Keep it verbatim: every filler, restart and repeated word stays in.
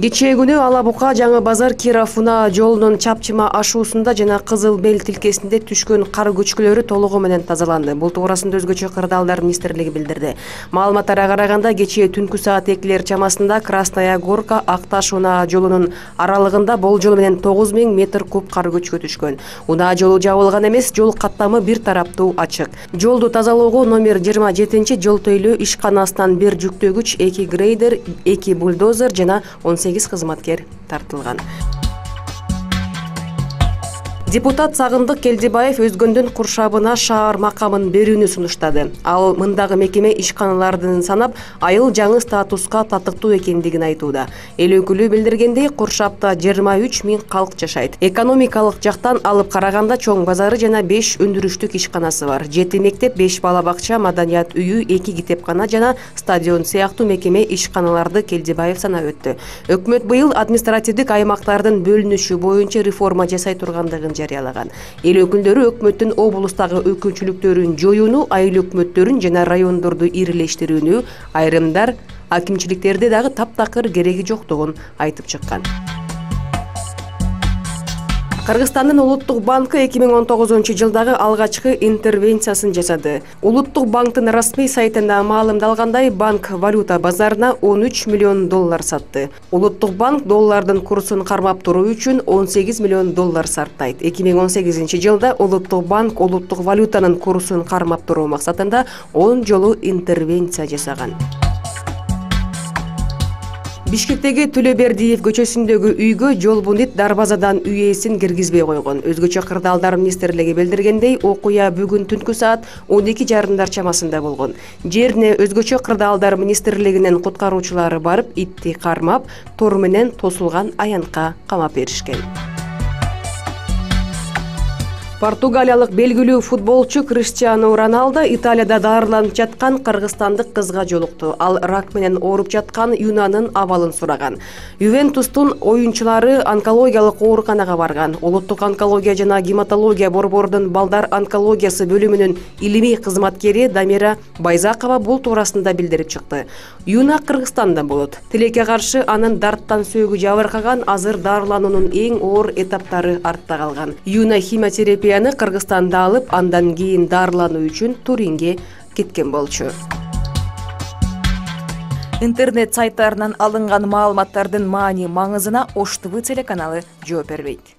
Кечээ күнү Ала Бука Жаңы Базар Киров Унаа жолунун чапчыма ашуусунда жана Кызыл Бел тилкесинде түшкөн кар көчкүлөрү толугу менен тазаланды. Бул туурасында Өзгөчө кырдаалдар министрлиги билдирди. Маалыматтарга караганда кечээ түнкү саат экилер чамасында Красная Горка Акташ Унаа жолунун аралыгында болжол менен тогуз миң метр куб кар көчкү түшкөн. Унаа жолу жабылган эмес, жол каттамы бир тараптуу ачык. Жолду тазалоого номер жыйырма жетинчи жол төйлөө ишканасынан бир жүктөгүч, эки грейдер, эки бульдозер жана он сегиз кызматкер тартылган. Депутат Сагындык Келдибаев өзгөндүн куршабына шаар макамын берүүнү сунуштады. Ал мындагы мекеме ишканалардын санап, айыл жаңы статуска татыктуу экендигин айтууда. Эл өкүлү билдиргендей, куршапта жыйырма үч миң калк жашайт. Экономикалык жактан алып караганда чоң базары жана беш өндүрүштүк ишканасы бар. жети мектеп, беш бала бакча, маданият үйү, эки китепкана жана стадион сыяктуу мекеме ишканаларды Келдибаев санап өттү. Өкмөт быйыл административдик аймактардын бөлүнүшү боюнча реформа жасай тургандыгын жарыялаган. Эл өкүлдөрү өкмөттүн облустагы өкүнчүлүктөрүн жоюуну, айыл өкмөттөрүн жана райондорду ирилештирүүнү, айрымдар акимчиликтерде дагы таптакыр кереги жоктугун айтып чыккан. Кыргызстандын Улуттук банкы эки миң он тогузунчу жылдагы алгачкы интервенциясын жасады. Улуттук банктын расмий сайтында маалымдалгандай, банк валюта базарына он үч миллион доллар сатты. Улуттук банк доллардын курсун кармап туруу үчүн он сегиз миллион доллар сарптайт. эки миң он сегизинчи жылда Улуттук банк улуттук валютанын курсун кармап туруу максатында он жолу интервенция жасаган. Бишкектеги Төлөбердиев көчөсүндөгү үйгө жолбунит дарбазадан үй ээсин киргизбей койгон. Өзгөчө кырдаалдар министрлиги билдиргендей, окуя бүгүн түнкү саат он эки жарымдар чамасында болгон. Жерине Өзгөчө кырдаалдар министрлигинин куткаруучулары барып, итти кармап, тор менен тосулган аянтка камап беришкен. Португалиялык белгилүү футболчу Криштиану Роналдо Италияда дарыланып жаткан кыргызстандык кызга жолукту. Ал рак менен ооруп жаткан Юнанын абалын сураган. Ювентустун оюнчулары онкологиялык ооруканага барган. Улуттук онкология жана гематология борборунун балдар онкологиясы бөлүмүнүн илимий кызматкери Дамира Байзакова бул туурасында билдирип чыкты. Юна Кыргызстанда болот. Тилекке каршы анын дарттан сөөгү жабыркаган, азыр дарылануунун эң оор этаптары артта калган. Юна химиотерапия Кыргызстанда алып, андан кийин дарылануу үчүн Туринге кеткен болчу. Интернет сайттарынан алынган маалыматтардын маани маңызына Ош ТВ телеканалы жооп бербейт.